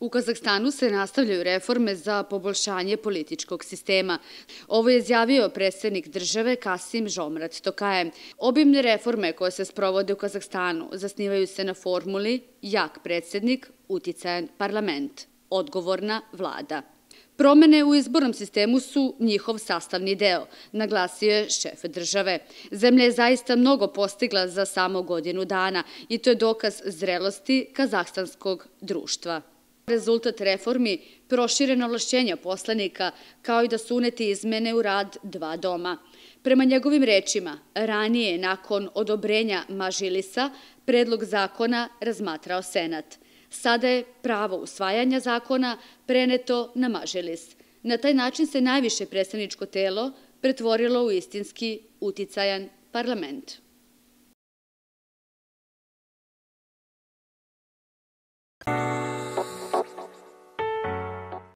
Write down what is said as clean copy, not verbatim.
U Kazahstanu se nastavljaju reforme za poboljšanje političkog sistema. Ovo je izjavio predsjednik države Kasim-Žomart Tokajev. Obimne reforme koje se sprovode u Kazahstanu zasnivaju se na formuli jak predsjednik, uticajan parlament, odgovorna vlada. Promene u izbornom sistemu su njihov sastavni deo, naglasio je šef države. Zemlja je zaista mnogo postigla za samo godinu dana i to je dokaz zrelosti kazahstanskog društva. Rezultat reformi prošireno ovlašćenja poslanika, kao i da su uneti izmene u rad dva doma. Prema njegovim rečima, ranije, nakon odobrenja Mažilisa, predlog zakona razmatrao Senat. Sada je pravo usvajanja zakona preneto na Mažilis. Na taj način se najviše predstavničko telo pretvorilo u istinski uticajan parlament.